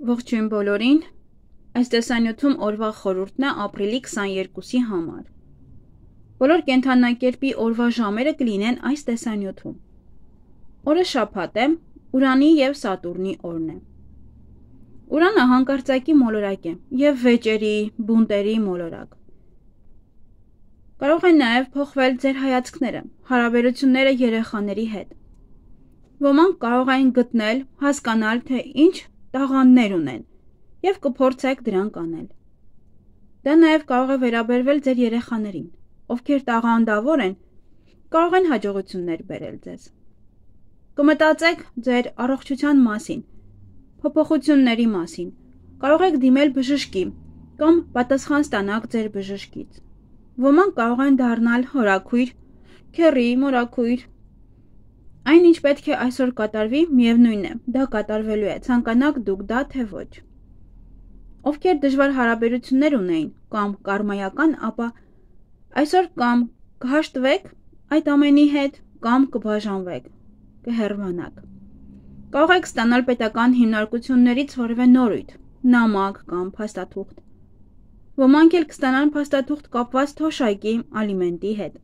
Ողջույն բոլորին, այս տեսանյութում օրվա խորհուրդն է ապրիլի 22-ի համար։ Բոլոր կենդանակերպի օրվա ժամերը կլինեն այս տեսանյութում։ Օրը շաբաթ է, Ուրանի և Սատուրնի օրն է։ Ուրանը հանկարծակի մոլորակ է և վեճերի, բունտերի մոլորակ։ Կարող է նաև փոխվել ձեր հայացքները, հարաբերությունները երեխաների հետ։ Ոմանք կարող են գտնել, հասկանալ, թե ինչ տաղանդներ ունեն և կփորձեք դրանք անել։ Դա նաև կարող է վերաբերվել ձեր երեխաներին, ովքեր տաղանդավոր են, կարող են հաջողություններ բերել ձեզ։ Կմտածեք ձեր առողջության մասին, փոփոխությունների մասին, կարող եք դիմել բժշկի կամ պատասխան ստանաք ձեր բժշկից։ Ոմանք կարող են դառնալ հորաքույր, քեռի, մորաքույր։ Այն ինչ պետք է այսօր կատարվի, միևնույն է, դա կատարվելու է, ցանկանաք դուք դա թե ոչ։ Ովքեր դժվար հարաբերություններ ունեին կամ կարմայական, ապա այսօր կամ կհաշտվեք այդ ամենի հետ, կամ կբաժանվեք, կհեռանաք։ Կարող եք ստանալ պետական հիմնարկություններից որևէ նորույթ, նամակ կամ փաստաթուղթ։ Ոմանք էլ կստանան փաստաթուղթ կապված թոշակի ալիմենտի հետ։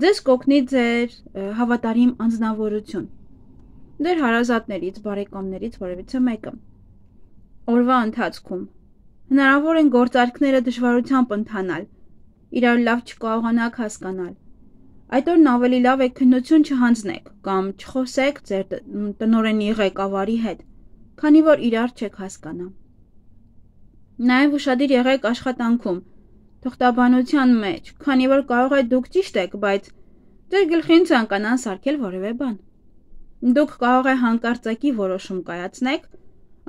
Ձեզ կօգնի ձեր հավատարիմ անձնավորություն, ձեր հարազատներից, բարեկամներից որևիցե մեկը։ Օրվա ընթացքում հնարավոր են գործարքները դժվարությամբ ընթանալ, իրար լավ չկարողանաք հասկանալ։ Այդ օրն ավելի լավ է քննություն չհանձնեք կամ չխոսեք ձեր տնօրենի ղեկավարի հետ, քանի որ իրար չեք հասկանա։ Նաև ուշադիր եղեք աշխատանքում, թղթաբանության մեջ, քանի որ կարող է դուք ճիշտ եք, բայց ձեր գլխին ցանկանան սարքել որևէ բան։ Դուք կարող է հանկարծակի որոշում կայացնեք,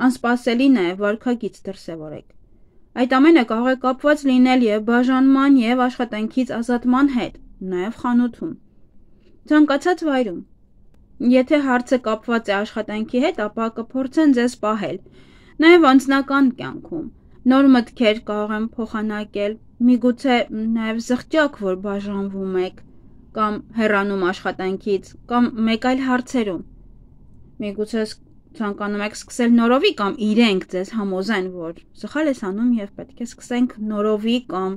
անսպասելի նաև վարքագիծ դրսևորեք։ Այդ ամենը կարող է կապված լինել և բաժանման և աշխատանքից ազատման հետ, նաև խանութում, ցանկացած վայրում։ Եթե հարցը կապված է աշխատանքի հետ, ապա կփորձեն ձեզ պահել, նաև անձնական կյանքում։ Նոր մտքեր կարող են փոխանակել, միգուցե նաև զղջակ, որ բաժանվում եք, կամ հեռանում աշխատանքից, կամ մեկ այլ հարցերում։ Միգուցե ցանկանում եք սկսել նորովի կամ իրենք ձեզ համոզեն, որ սխալ ես անում և պետք է սկսենք նորովի կամ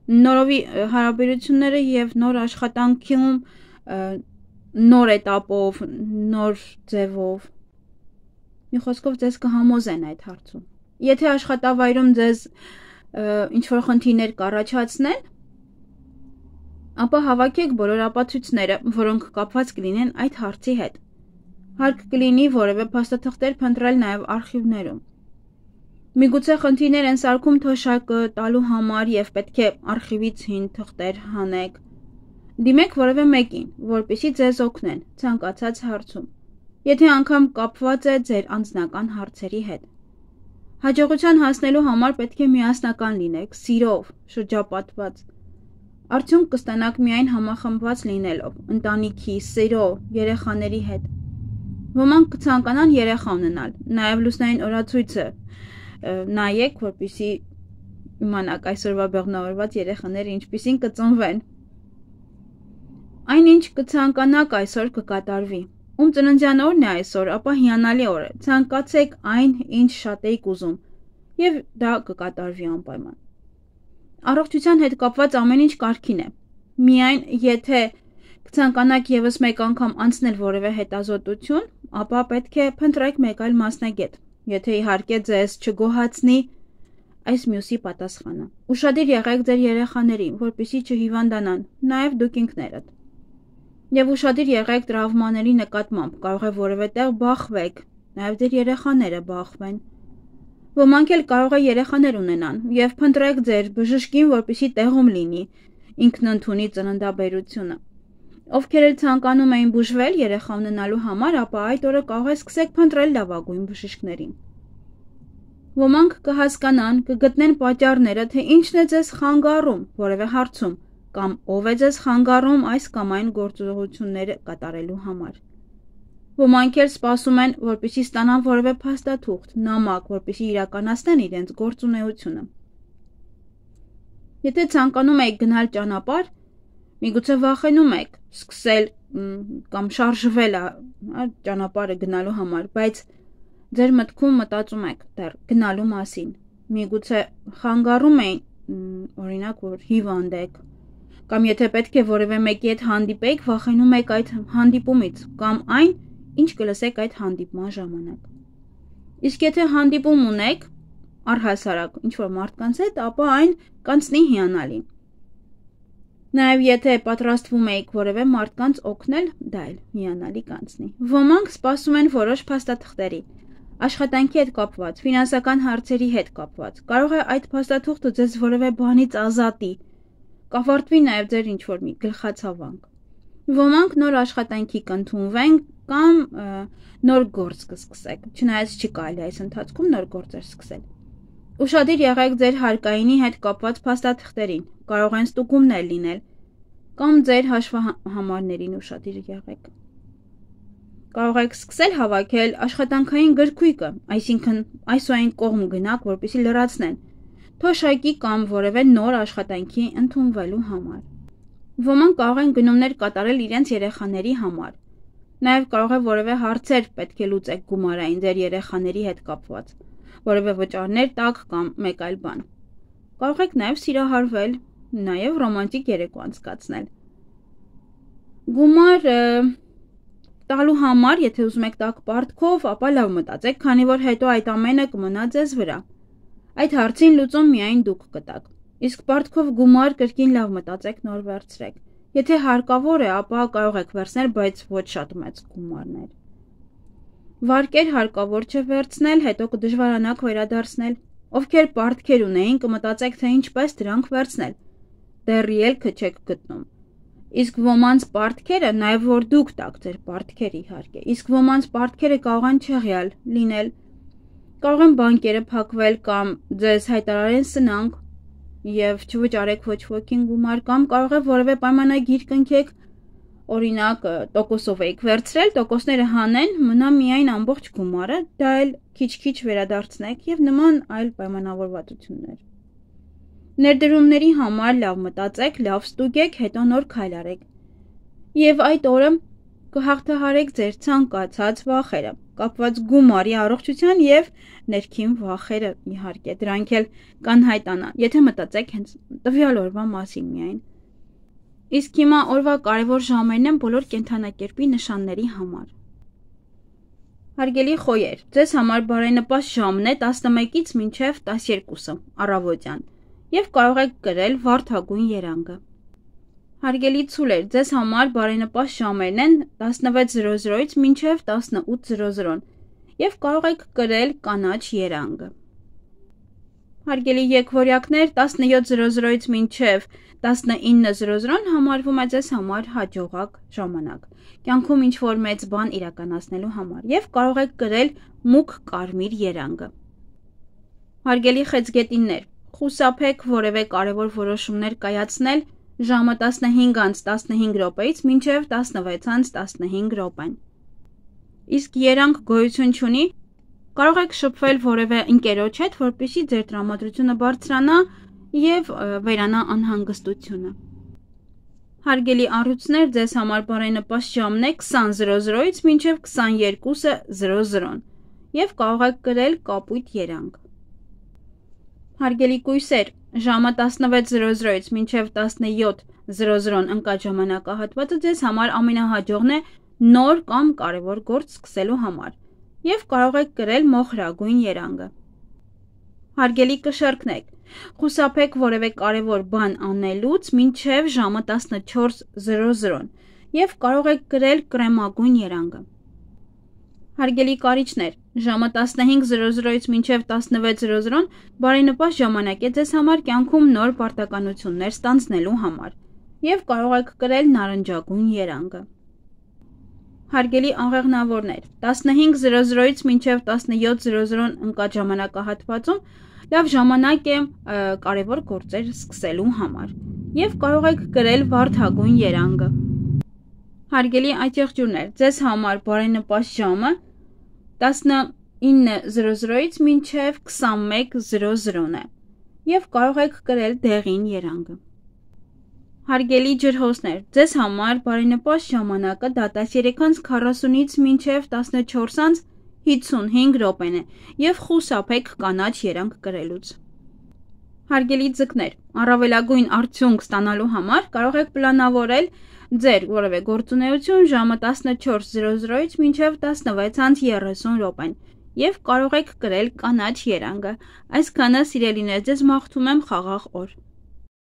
նորովի հարաբերությունները և նոր աշխատանքում, նոր էտապով, նոր ձևով։ Մի խոսքով ձեզ կհամոզեն այդ հարցում։ Եթե աշխատավայրում ձեզ ինչ-որ խնդիրներ կառաջացնեն, ապա հավաքեք բոլոր ապացույցները, որոնք կապված կլինեն այդ հարցի հետ։ Հարկ կլինի որևէ փաստաթղթեր փնտրել նաև արխիվներում։ Միգուցե խնդիրներ են սարքում թոշակը տալու համար և պետք է արխիվից հին թղթեր հանեք։ Դիմեք որևէ մեկին, որպեսզի ձեզ օգնեն ցանկացած հարցում, եթե անգամ կապված է ձեր անձնական հարցերի հետ։ Հաջողության հասնելու համար պետք է միասնական լինեք, սիրով, շրջապատված։ Արդյունք կստանաք միայն համախմբված լինելով, ընտանիքի, սերո, երեխաների հետ։ Ոմանք կցանկանան երեխա ունենալ, նաև լուսնային օրացույցը նայեք, որպեսզի իմանաք այսօրվա բեղմնավորված երեխաները ինչպիսին կծնվեն։ Այն ինչ կցանկանաք այսօր կկատարվի։ Ում ծննդյան օրն է այսօր, ապա հիանալի օր է, ցանկացեք այն, ինչ շատ էիք ուզում, և դա կկատարվի անպայման։ Առողջության հետ կապված ամեն ինչ կարգին է։ Միայն եթե կցանկանաք ևս մեկ անգամ անցնել որևէ հետազոտություն, ապա պետք է փնտրեք մեկ այլ մասնագետ, եթե իհարկե ձեզ չգոհացնի այս մյուսի պատասխանը։ Ուշադիր եղեք ձեր երեխաներին, որպեսզի չհիվանդանան, նաև դուք ինքներդ։ Եվ ուշադիր եղեք տրավմաների նկատմամբ, կարող է որևէ տեղ բախվեք, նաև ձեր երեխաները բախվեն։ Ոմանք էլ կարող է երեխաներ ունենան, և փնտրեք ձեր բժշկին, որպեսզի տեղում լինի, ինքն ընդունի ծննդաբերությունը։ Ովքեր էլ ցանկանում էին բուժվել երեխա ունենալու համար, ապա այդ օրը կարող է սկսեք փնտրել լավագույն բժիշկներին։ Ոմանք կհասկանան, կգտնեն պատճառները, թե ինչն է ձեզ խանգարում որևէ հարցում, կամ ով է ձեզ խանգարում այս կամ այն գործողությունները կատարելու համար։ Ոմանք էլ սպասում են, որպեսզի ստանան որևէ փաստաթուղթ, նամակ, որպեսզի իրականացնեն իրենց գործունեությունը։ Եթե ցանկանում եք գնալ ճանապարհ, միգուցե վախենում եք սկսել կամ շարժվել ճանապարհը գնալու համար, բայց ձեր մտքում մտածում եք դեռ գնալու մասին, միգուցե խանգարում էին, օրինակ, որ հիվանդ եք, կամ եթե պետք է որևէ մեկի հետ հանդիպեիք, վախենում եք այդ հանդիպումից, կամ այն, ինչ կլսեք այդ հանդիպման ժամանակ։ Իսկ եթե հանդիպում ունեք, առհասարակ ինչ-որ մարդկանց հետ, ապա այն կանցնի հիանալի։ Նաև եթե պատրաստվում եք որևէ մարդկանց օգնել, դա էլ հիանալի կանցնի։ Ոմանք սպասում են որոշ փաստաթղթերի, աշխատանքի հետ կապված, ֆինանսական հարցերի հետ կապված։ Կարող է այդ փաստաթուղթը ձեզ որևէ բանից ազատի, կավարտվի նաև ձեր ինչ-որ մի գլխացավանք։ Ոմանք նոր աշխատանքի կընդունվեն կամ նոր գործ կսկսեք, չնայած չի կարելի այս ընթացքում նոր գործեր սկսել։ Ուշադիր եղեք ձեր հարկայինի հետ կապված փաստաթղթերին, կարող են ստուգումներ լինել, կամ ձեր հաշվահամարներին ուշադիր եղեք։ Կարող եք սկսել հավաքել աշխատանքային գրքույկը, այսինքն այս ու այն կողմ գնաք, որպեսզի լրացնեն, թոշակի կամ որևէ նոր աշխատանքի ընդունվելու համար։ Ոմանք կարող են գնումներ կատարել իրենց երեխաների համար։ Նաև կարող է որևէ հարցեր պետք է լուծեք գումարային ձեր երեխաների հետ կապված, որևէ վճարներ տակ կամ մեկ այլ բան։ Կարող եք նաև սիրահարվել, նաև ռոմանտիկ երեկո անցկացնել։ Գումար տալու համար, եթե ուզում եք տաք պարտքով, ապա լավ մտածեք, քանի որ հետո այդ ամենը կմնա ձեզ վրա։ Այդ հարցին լուծում միայն դուք կտաք։ Իսկ պարտքով գումար կրկին լավ մտածեք, նոր վերցրեք։ Եթե հարկավոր է, ապա կարող եք վերցնել, բայց ոչ շատ մեծ գումարներ։ Վարկեր հարկավոր չէ վերցնել, հետո կդժվարանաք վերադարձնել։ Ովքեր պարտքեր ունեին, կմտածեք, թե ինչպես դրանք վերցնել։ Դեռ ելքը չեք գտնում։ Իսկ ոմանց պարտքերը, նաև որ դուք տաք ձեր պարտքեր իհարկե, իսկ ոմանց պարտքերը կարող են չեղյալ լինել։ Կարող են բանկերը փակվել կամ ձեզ հայտարարեն սնանկ եւ չվճարեք ոչ ոքին գումար, կամ կարող է որևէ պայմանագիր կնքեք, օրինակ տոկոսով եք վերցրել, տոկոսները հանեն, մնա միայն ամբողջ գումարը, դա էլ քիչ-քիչ վերադարձնեք եւ նման այլ պայմանավորվածություններ։ Ներդրումների համար լավ մտածեք, լավ ստուգեք, հետո նոր քայլ արեք։ Եվ այդ օրը կհաղթահարեք ձեր ցանկացած վախերը, կապված գումարի առողջության եւ ներքին վախերը, իհարկե, դրանք էլ կանհայտանան, եթե մտածեք հենց տվյալ օրվա մասին միայն։ Իսկ հիմա օրվա կարևոր ժամերն են բոլոր կենդանակերպի նշանների համար։ Հարգելի խոյեր, ձեզ համար բարենպաստ ժամն է 11-ից մինչև 12-ը առավոտյան եւ կարող եք գրել վարդագույն երանգը։ Հարգելի ցուլեր, ձեզ համար բարենպաստ ժամերն են 16:00-ից մինչև 18:00 եւ կարող եք գրել կանաչ երանգը։ Հարգելի եկվորյակներ, 17:00-ից մինչև 19:00 համարվում է ձեզ համար հաջողակ ժամանակ, կյանքում ինչ-որ մեծ բան իրականացնելու համար եւ կարող եք գրել մուգ կարմիր երանգը։ Հարգելի խեցգետիններ, խուսափեք որևէ կարևոր որոշումներ կայացնել ժամը 15:15 րոպեից մինչև 16:15 րոպեն։ Իսկ երանգ գոյություն չունի, կարող եք շփվել որևէ ընկերոջ հետ, որպեսզի ձեր տրամադրությունը բարձրանա եւ վերանա անհանգստությունը։ Հարգելի առյուծներ, ձեզ համար բարենպաստ ժամն է 20:00-ից մինչև 22:00 եւ կարող եք գրել կապույտ երանգ։ Հարգելի կույսեր, ժամը 16:00-ից մինչև 17:00 ընկած ժամանակահատվածը ձեզ համար ամենահաջողն է նոր կամ կարևոր գործ սկսելու համար եւ կարող եք գրել մոխրագույն երանգը։ Հարգելի կշեռքներ, խուսափեք որևէ կարևոր բան անելուց մինչև ժամը 14:00 եւ կարող եք գրել կրեմագույն երանգը։ Հարգելի կարիճներ, ժամը 15:00-ից մինչև 16:00 բարենպաստ ժամանակ է ձեզ համար կյանքում նոր պարտականություններ ստանձնելու համար եւ կարող եք գրել նարնջագույն երանգը։ Հարգելի աղեղնավորներ, 15:00-ից մինչև 17:00 ընկած ժամանակահատվածում լավ ժամանակ է կարևոր գործեր սկսելու համար եւ կարող եք գրել վարդագույն երանգը։ Հարգելի այթեղջյուրներ, ձեզ համար բարենպաստ ժամը 19:00-ից մինչև 21:00 է եւ կարող եք գրել դեղին երանգը։ Հարգելի ջրհոսներ, ձեզ համար բարենպաստ ժամանակը 13:40-ից մինչև 14:50 55 րոպեն է և խուսափեք կանաչ երանգ կրելուց։ Հարգելի ձկներ, առավելագույն արդյունք ստանալու համար կարող եք պլանավորել ձեր որևէ գործունեություն ժամը 14:00-ից մինչև 16:30 րոպեն և կարող եք կրել կանաչ երանգը։ Այսքանը, սիրելիներ, ձեզ մաղթում եմ խաղաղ օր։